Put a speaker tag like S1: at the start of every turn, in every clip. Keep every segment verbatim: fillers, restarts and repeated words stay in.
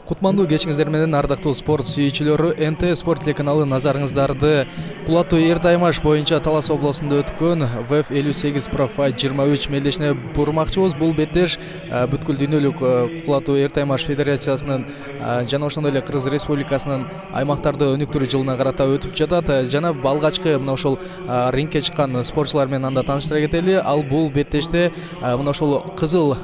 S1: Кутмандуу кечиңиздер менен ардактуу спорт сүйүүчүлөрү, эн тэ спорт телеканалы назарыңыздарды Кулатуу Эрдаймаш боюнча Талас областында өткөн вэ эф элүү сегиз Pro Fight жыйырма үч мелдешине бурмакчыбыз. Бул беттеш бүткүл дүйнөлүк Кулатуу Эрдаймаш федерациясынын жана ошондой эле Кыргыз Республикасынын аймактарды өнүктүрүү жылына карата өтүп жатат. Жана алгачкы мына ошол рингке чыккан спортчулар менен анда тааныштыра кетели. Ал бул беттеште мына ошол кызыл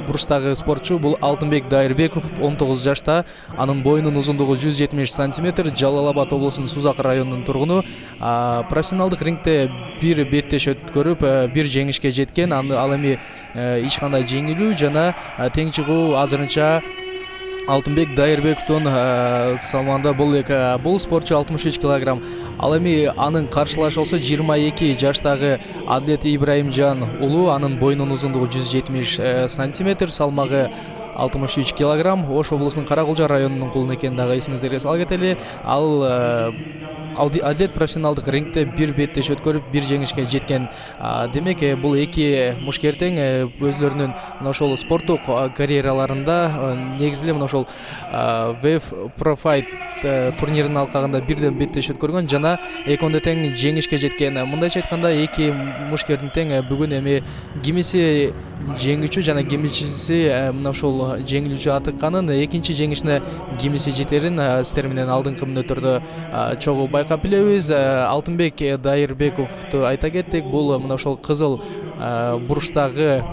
S1: бурчтагы спортчу бул Алтынбек Дайырбеков, он тогуз жашта, анын боюнун узундугу жүз жетимиш сантиметр, Жалал Абад облусунун Сузак районунун тургуну. Профессионалдык рингте бир беттеш өткөрүп, бир жеңишке жеткен. Ал эми эч кандай жеңилүү жана тең чыгуу азырынча Алтынбек Дайырбековдун салмагында. Бул бул спортчу алтымыш үч килограмм. Ал эми анын каршылашы болсо жыйырма эки жаштагы Адлет Ибраимжан уулу, анын боюнун узундугу жүз жетимиш сантиметр, салмагы алтымыш үч килограмм. Ош облусунун Каракулжа районунун кулуна экенин дагы эсиңиздерге сала кетели. Ал Адлет профессионалдык рингте бир беттеш өткөрүп, бир жеңишке жеткен. Демек, бул эки мушкертең өзлөрүнүн мына ошол спорттук карьераларында негизи эле мына ошол вэ эф Pro Fight турниринин алкагында бирден беттеш өткөргөн жана экөөндө тең жеңишке жеткен. Мындайча айтканда, эки мушкердин тең бүгүн эми кимиси жеңүүчү жана кимиси мына ошол жеңилүүчү атыкканын, экинчи жеңишине кимиси жетерин сиздер менен алдыңкы мүнөттөрдө чогуу байкап билебиз. Алтынбек Дайырбековду айта кеттик. Бул мына ошол кызыл бурчтагы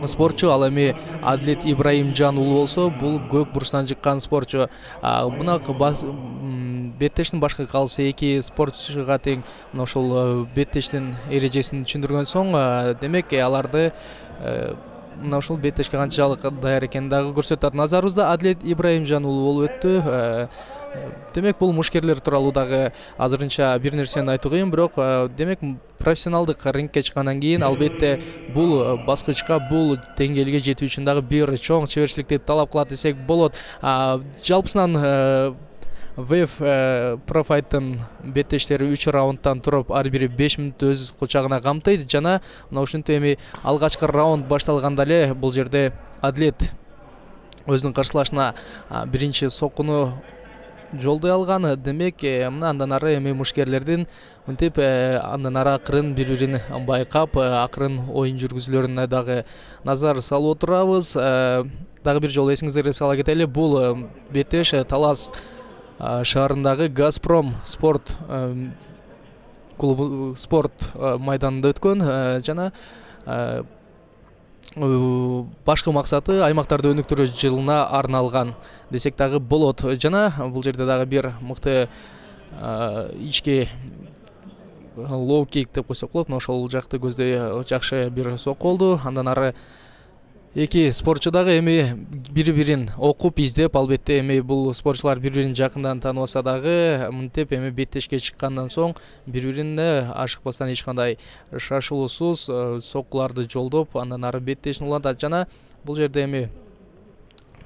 S1: спортчу. Ал эми Адлет Ибраимжан уулу болсо, бул көк бурчтан чыккан спортчу. Мына беттештин башкы каалысы эки спортчуга тең мына ошол беттештин эрежесин түшүндүргөн соң, демек аларды мына ошол беттешке канчалык даяр экенин дагы көрсөтөт. Назарыбызда Адлет Ибраимжан уулу болуп өттү. Демек, бул мушкерлер тууралуу дагы азырынча бир нерсени айтуу кыйын, бирок демек профессионалдык рингке чыккандан кийин албетте бул баскычка, бул деңгээлге жетүү үчүн дагы бир чоң чеберчиликти талап кылат десек болот. Жалпысынан вэ эф Pro Fight'тын беттештери үч раундтан туруп, ар бири беш мүнөт өз кучагына камтыйт жана мына ушинтип эми алгачкы раунд башталганда эле бул жерде Адлет өзүнүн каршылашына биринчи соккуну жолдой алган. Демек, мына андан ары эми мушкерлердин мынтип андан ары акырын бири-бирин байкап, акырын оюн жүргүзүүлөрүнө дагы назар салып отурабыз. Дагы бир жолу эсиңиздерге сала кетели, бул беттеш Талас шаарындагы Газпром спорт клубу спорт майданында өткөн жана башкы максаты аймактарды өнүктүрүү жылына арналган десек дагы болот. Жана бул жерде дагы бир мыкты ички лоу кик деп койсок болот. Ошол жакты көздөй жакшы бир сокку болду. Андан ары эки спортчу дагы эми бири-бирин окуп, издеп, албетте эми бул спортчулар бири-бирин жакындан тааныбаса дагы мынтип эми беттешке чыккандан соң бири-бирине ашыкпастан эч кандай шашылуусуз соккуларды жолдоп, андан ары беттешин улантат. Жана бул жерде эми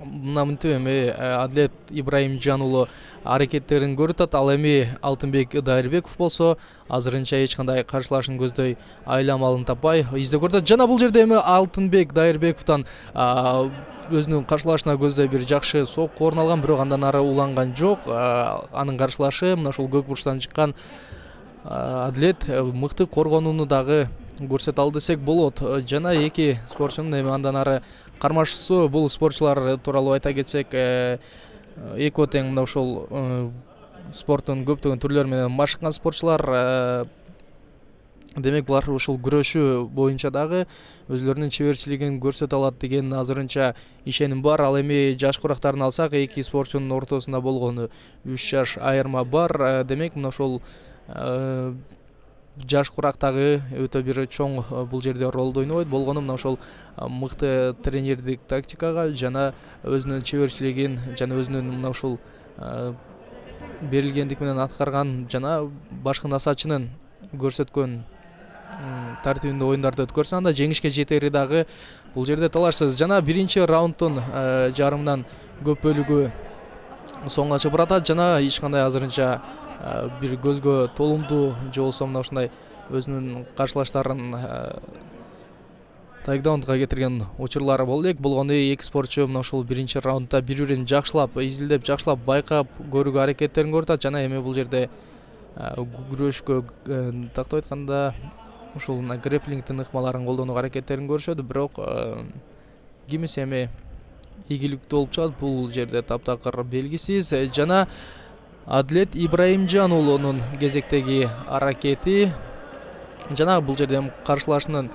S1: мына мынтип эми Адлет Ибраимжан уулу аракеттерин көрүп. Ал эми Алтынбек Дайырбеков болсо азырынча эч кандай каршылашын көздөй айламалын таппай издеп көрүнөт. Жана бул жерде эми Алтынбек Дайырбековдон өзүнүн каршылашына көздөй бир жакшы сокку орун алган, бирок андан ары уланган жок. Анын каршылашы мына ошол көк бурчтан чыккан Адлет мыкты коргонууну дагы көрсөтө алды десек болот. Жана эки спортчунун эми андан ары кармашчысы, бул спортчулар тууралуу айта кетсек, экөө тең мына ошол спорттун көптөгөн түрлөрү менен машыккан спортчулар. Демек, булар ушул күрөшүү боюнча дагы өзлөрүнүн чеберчилигин көрсөтө алат деген азырынча ишеним бар. Ал эми жаш курактарын алсак, эки спортчунун ортосунда болгону үч жаш айырма бар. Демек, мына ошол жаш курактагы өтө бир чоң бул жерде ролду ойнобойт. Болгону мына ошол мыкты тренердик тактикага жана өзүнүн чеберчилигин жана өзүнүн мына ушул берилгендик менен аткарган жана башкы насаачынын көрсөткөн тартибинде оюндарды өткөрсө, анда жеңишке жетери дагы бул жерде талашсыз. Жана биринчи раундтун жарымынан көп бөлүгү соңга чыгып баратат жана эч кандай азырынча бир көзгө толумдуу же болбосо мына ушундай өзүнүн каршылаштарын тайкдаунга кетирген учурлары болду элек. Болгондой эки спортчу мына ушул биринчи раундда бири-бирин жакшылап изилдеп, жакшылап байкап көрүүгө аракеттерин көрүп атат. Жана эми бул жерде күрөшкө тактап айтканда ушул грэплингдин ыкмаларын колдонууга аракеттерин көрүшөт. Бирок кимиси эми ийгиликтүү болуп чыгат, бул жерде таптакыр белгисиз. Жана Адлет Ибраимжан уулунун кезектеги аракети жана бул жерде каршылашынын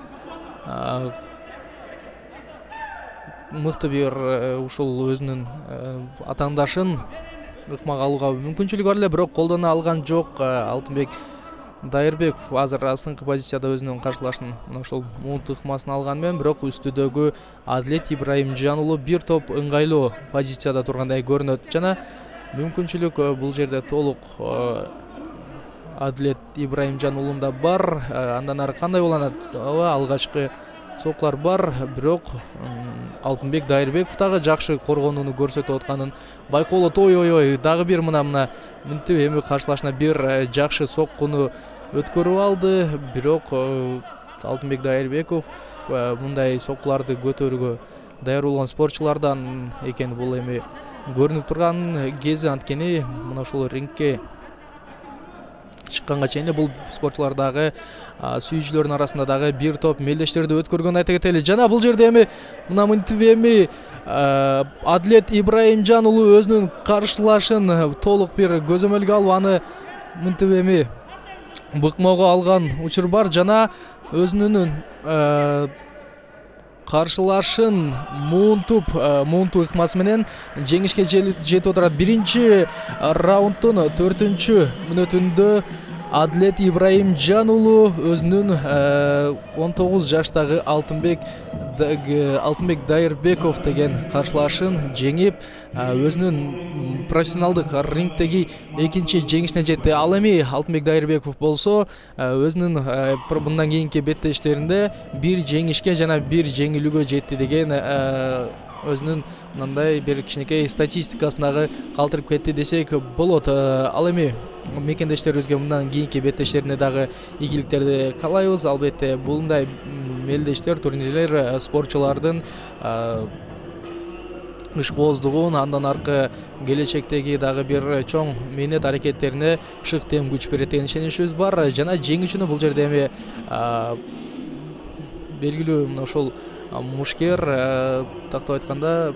S1: мыкты бир ушул өзүнүн атаандашын ыкмага алууга мүмкүнчүлүгү бар эле, бирок колдоно алган жок. Алтынбек Дайырбеков азыр астыңкы позицияда өзүнүн каршылашын мына ушул муунт ыкмасын алганы менен, бирок үстүдөгү Адлет Ибраимжан уулу бир топ ыңгайлуу позицияда тургандай көрүнөт. Жана мүмкүнчүлүк бул жерде толук Адлет Ибраимжан уулунда бар. Андан ары кандай уланат? Ооба, алгачкы соклар бар, бирок Алтынбек Дайырбеков дагы жакшы коргонууну көрсөтүп атканын байкоолот. Ой ой ой, дагы бир мына мына мынтип эми каршылашына бир жакшы соккуну өткөрүп алды, бирок Алтынбек Дайырбеков мындай соккуларды көтөрүүгө даяр болгон спортчулардан экени бул эми көрүнүп турган кези. Анткени мына ушул рингке чыкканга чейин бул спортчулар дагы сүйүүчүлөрдүн арасында дагы бир топ мелдештерди өткөргөнүн айта кетели. Жана бул жерде эми мына мынтип эми Адлет Ибраимжан уулу өзүнүн каршылашын толук бир көзөмөлгө алып, аны мынтип эми быкмоого алган учур бар. Жана өзүнүн каршылашын муунтуп муунтуу ыкмасы менен жеңишке жетип отурат. Биринчи раунддун төртүнчү мүнөтүндө Адлет Ибраимжан уулу өзүнүн он тогуз жаштагы Алтынбек Алтынбек Дайырбеков деген каршылашын жеңип, өзүнүн профессионалдык рингдеги экинчи жеңишине жетти. Ал эми Алтынбек Дайырбеков болсо өзүнүн мындан кийинки беттештеринде бир жеңишке жана бир жеңилүүгө жетти деген өзүнүн мындай бир кичинекей статистикасын дагы калтырып кетти десек болот. Ал эми мекендештерибизге мындан кийинки беттештерине дагы ийгиликтерди каалайбыз. Албетте булундай мелдештер, турнирлер спортчулардын ишкооздугун, андан аркы келечектеги дагы бир чоң мээнет аракеттерине шык тем күч берет деген ишеничибиз бар. Жана жеңүүчүнү бул жерде эми белгилүү мына ушул мушкер, тактап айтканда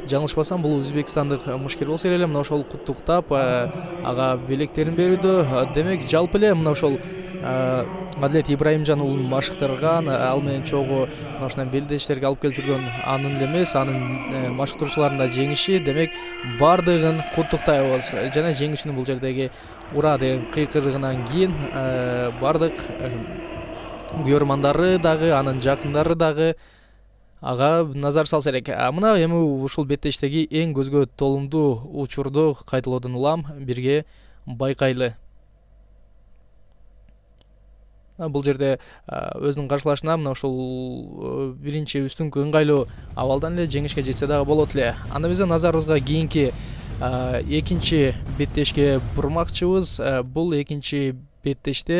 S1: жаңылышпасам бул өзбекстандык мушкер болсо керек эле. Мына ошол куттуктап ага белектерин берүүдө. Демек жалпы эле мына ошол Адлет Ибраимжан уулун машыктырган, ал менен чогуу мына ушундай белдештерге алып келип жүргөн анын эле эмес, анын машыктыруучуларынын да жеңиши. Демек бардыгын куттуктайбыз. Жана жеңүүчүнүн бул жердеги ура деген кыйкырыгынан кийин бардык көрөрмандары дагы, анын жакындары дагы ага назар салса элек. Мына эми ушул беттештеги эң көзгө толумдуу учурду кайталоодон улам, бирге байкайлы. Бул жерде өзүнүн каршылашына мына ушул биринчи үстүңкү ыңгайлуу абалдан эле жеңишке жетсе дагы болот эле. Анда биздин назарыбызга кийинки экинчи беттешке бурмакчыбыз. Бул экинчи беттеште